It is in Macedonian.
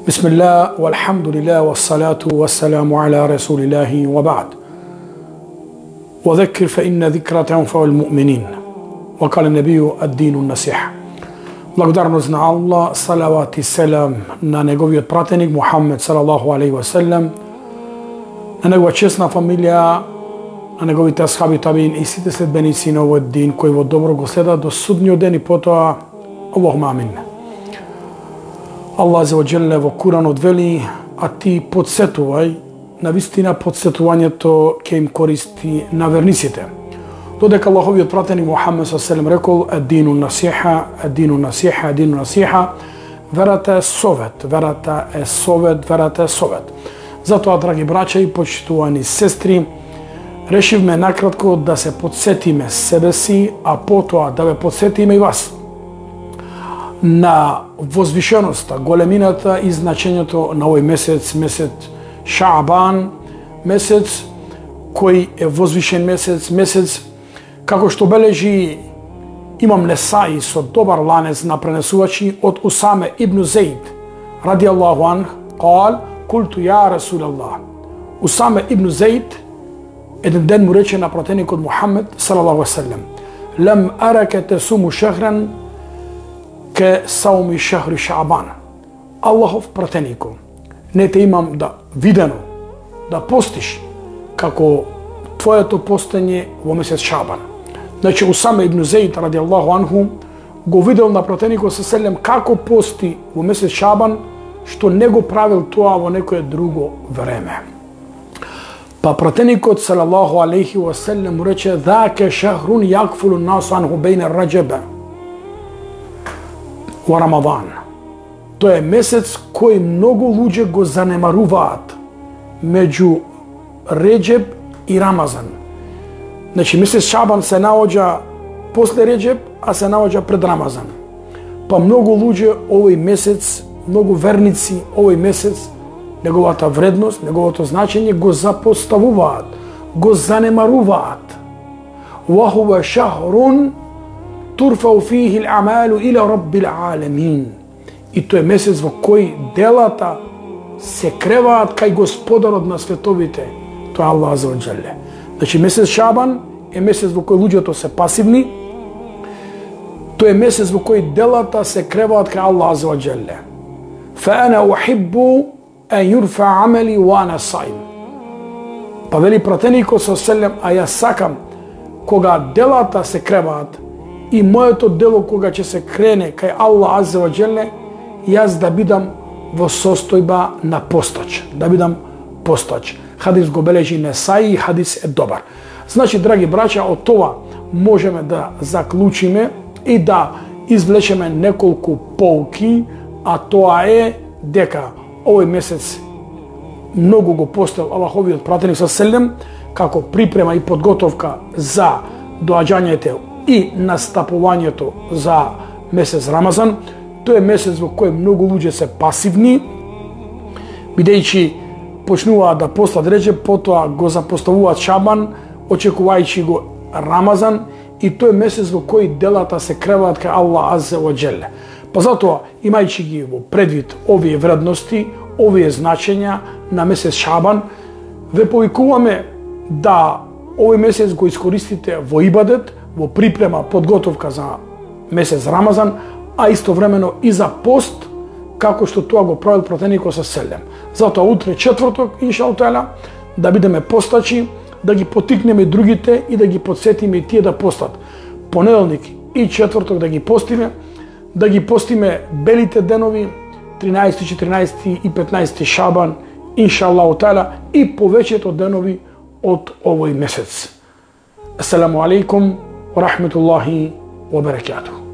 بسم الله والحمد لله والصلاة والسلام على رسول الله وبعد وذكر فإن ذكرى تنفع المؤمنين وقال النبي الدين النصيحة. Благодарност на Аллах, салават и селам на неговиот пратеник Мухаммед салаллаху алейхи ва селем, на негова честна фамилија, на неговите асхаби табиин и сите следбеници на овој дин кои во добро го следат до судниот ден и потоа Аллахума амин. Аллах азza wa jalla во Куранот вели: а ти подсетувај, навистина подсетувањето ќе им користи на верниците. Додека Аллаховиот пратеник Мухаммед саллаллаху алейхи ва селем рекол: аддину насиха, аддину насиха, аддину насиха, верата е совет, верата е совет, верата е совет. Затоа, драги браќа и почитувани сестри, решивме накратко да се подсетиме себе си, а потоа да ве подсетиме и вас на возвишеноста, големината и значењето на овој месец, месец Шаабан, месец кој е возвишен месец, месец како што бележи Имам Несаи со добар ланец на пренесувачи од Усаме ибн Зейд ради Аллаху анх, кал: култу ја Расулаллах. Усаме ибн Зейд еден ден му рече на пратеникот Мухаммед салаллаху алейхи ва селем: лем араке тесуму шахран ке сауми шахри Шаабан. Аллахов пратенико, не те имам да видено да постиш како твоето постење во месец Шаабан. Значи Усаме ибн Зейд ради Аллаху анху го видел на пратеникот селем како пости во месец Шаабан, што не го правил тоа во некое друго време. Па пратеникот салаллаху алейхи ва селем му рече: ذاك شهر يغفل الناس عنه بين الرجب во Рамадан. Тоа е месец кој многу луѓе го занемаруваат меѓу Реджеб и Рамазан. Значи месец Шаабан се наоѓа после Реджеб, а се наоѓа пред Рамазан. Па многу луѓе овој месец, многу верници овој месец, неговата вредност, неговото значење го запоставуваат, го занемаруваат. Ва хува шахрун турфау фихи л-амалу иля раббил аламин. И тој е месец во кој делата се креваат кај Господарот на световите, тоа е Аллах азza wa jalla. Значи месец Шаабан е месец во кој луѓето се пасивни, тој е месец во кој делата се креваат кај Аллах азza wa jalla. Фа ана ухиббу ан юрфа амали ва ана саим. Па вели пратеникот селем: а јас сакам кога делата се креваат и моето дело кога ќе се крене кај Аллах азza wa jalla, јас да бидам во состојба на постач, да бидам постач. Хадис го бележи Несаи и хадис е добар. Значи, драги браќа, од това можеме да заклучиме и да извлечеме неколку поуки, а тоа е дека овој месец многу го постел Аллаховиот пратеник селем како припрема и подготовка за доаѓањето и настапувањето за месец Рамазан. Тој е месец во кој многу луѓе се пасивни, бидејќи почнуваат да постат Реджеб, потоа го запоставуваат Шаабан, очекувајќи го Рамазан, и тој е месец во кој делата се креваат кај Аллах азza wa jalla. Па затоа, имајќи ги во предвид овие вредности, овие значења на месец Шаабан, ве повикуваме да овој месец го искористите во ибадет, во припрема, подготовка за месец Рамазан, а истовремено и за пост, како што тоа го правил пратеникот селем. Затоа утре четврток, иншаллах таала, да бидеме постачи, да ги потикнеме другите и да ги подсетиме и тие да постат. Понеделник и четврток да ги постиме белите денови, 13, 14 и 15 Шаабан, иншаллах таала, и повеќето денови од овој месец. Ассаламу алейкум ва рахметуллахи ва баракатух.